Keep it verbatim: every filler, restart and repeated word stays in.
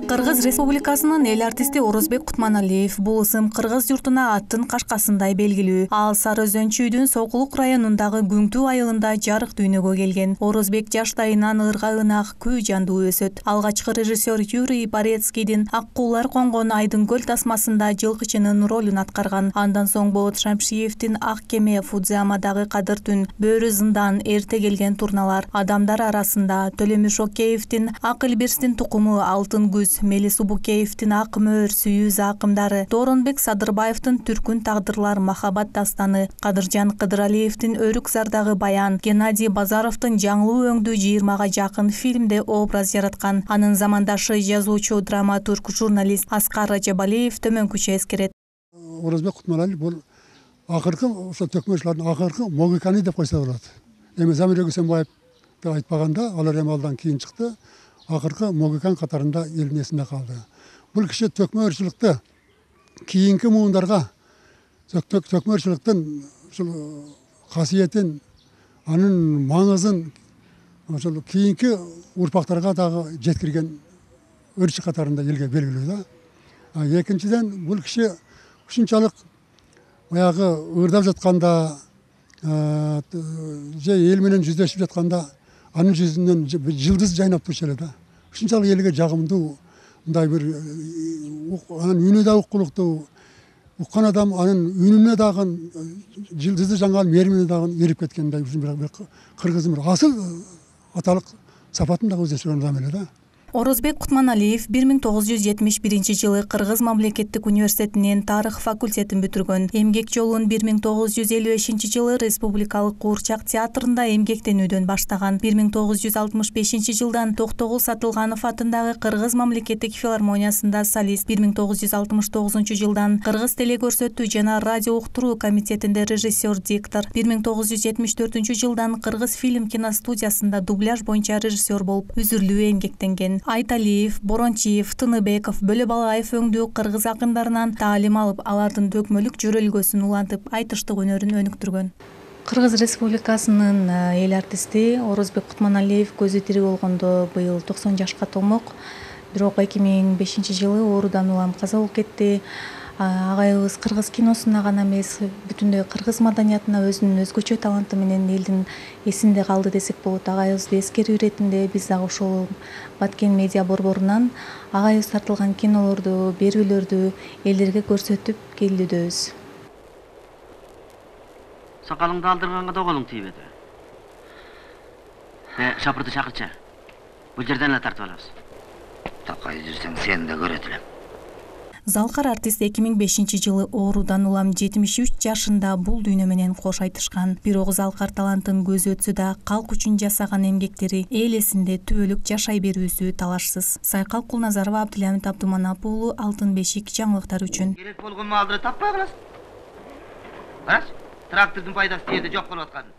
Кыргыз Республикасынын эл артисти Орозбек Кутманалиев бул ысым кыргыз журтуна аттын кашкасындай белгилүү. Ал Сары Өзөн чүйдүн Сокулук районундагы Күңтүү айылында жарык дүйнөгө келген. Орозбек жаштайынан ырга ынак, күй жандуу өсөт. Алгачкы режиссер Юрий Борецкийдин Ак куулар конгон Айдын көл тасмасында жылкычынын ролун аткарган. Андан соң Болот Шамшиевдин Ак кеме, Фудзиямадагы Кадыр түн, Бөрү зындан, Эрте келген турналар, Адамдар арасында, Төлөмүш Океевдин Ак Илбирстин тукуму, Алтын күз, Мелис Убукеевдин Ак мөөр, Сүйүү закымдары, Дооронбек Садырбаевдин Түркүн тагдырлар, Махабат дастаны, Кадыржан Кыдыралиевдин Өрүк зардагы баян, Геннадий Базаровдун Жаңылуу өңдүү жыйырмага жакын фильмде образ жараткан. Анын замандашы жазуучу, драматург, журналист Аскар Ажабалиев төмөнкүчө эскерет. Орозбек Кутманалиев бул акыркы ошо төкмөчлөрдүн акыркы Могиканы деп койсо болот. Эми Замир Өгүсөнбаевди айтпаганда, алар эми алдан кийин чыкты. Акыркы Могикан катарында элдин эсинде калды. Бул киши төкмө-ырчылыкты кийинки муундарга төкмө-ырчылыктын ушул касиетин, анын маңызын ошол кийинки урпактарга дагы жеткирген ырчы катарында элге белгилүү да. Экинчиден, бул киши ушунчалык баягы ырдап жатканда же эл менен жүздөшүп жатканда анын жүзүнөн жылдыз жайнап турчу эле да. Ушунчалык элге жагымдуу, мындай бир анын үнү да уккулуктуу, уккан адам анын үнүнө дагы жылдызы жанган мээримине дагы эрип кеткендей бир кыргыздын бир асыл аталык сапатын дагы өздөштүргөн адам эле да. Орозбек Кутманалиев бир миң тогуз жүз жетимиш биринчи жылы Кыргыз мамлекеттик университетинин тарых факультетин бүтүргөн. Эмгек жолун бир миң тогуз жүз элүү бешинчи жылы Республикалык Куурчак театрында эмгектенүүдөн баштаган. бир миң тогуз жүз алтымыш бешинчи жылдан Токтогул Сатылганов атындагы Кыргыз мамлекеттик филармониясында солист, бир миң тогуз жүз алтымыш тогузунчу жылдан Кыргыз телекөрсөтүү жана радио уктуруу комитетинде режиссер, диктор, бир миң тогуз жүз жетимиш төртүнчү жылдан Кыргыз фильм киностудиясында дубляж боюнча режиссер болуп үзүрлүү эмгектенген. Айталиев, Борончиев, Тыныбеков, Бөлөбалаев өңдүү кыргыз акындарынан таалим алып, алардын дөкмөлүк жөрөлгөсүн улантып, айтыштык өнөрүн өнүктүргөн. Кыргыз Республикасынын эл артисти Орозбек Кутманалиев көзү тирүү болгондо быйыл токсон жашка толмок. Бирок эки миң бешинчи жылы оорудан улам каза болуп кетти. Агайыбыз кыргыз киносуна гана эмес, бүтүндөй кыргыз маданиятына өзүнүн өзгөчө таланты менен элдин эсинде калды десек болот. Агайыбызды эскерүү иретинде биз дагы ошол Баткен медиа борборунан агайыбыз тартылган кинолорду, берүүлөрдү элдерге көрсөтүп келүүдөбүз. Сакалыңды алдырганга да колуң тийбеди. Э, шапырды чакырчы. Бул жерден эле тартып алабыз. Такай жүрсөң сени да көрөт элем. Залкар артист эки миң бешинчи жылы оорудан улам жетимиш үч жашында бул дүйнө менен кош айтышкан. Бирок Залкар талантын көзү өтсө да, калк үчүн жасаган эмгектери эл эсинде түбөлүк жашай берүүсү талашсыз. Сайкал Кулназарова, Абдылямит Абдуманап уулу, Алтын бешик жаңылыктар үчүн. Керек болгон маалды таппай каласың. Карач, трактордун пайдасы жерде жок болуп аткан.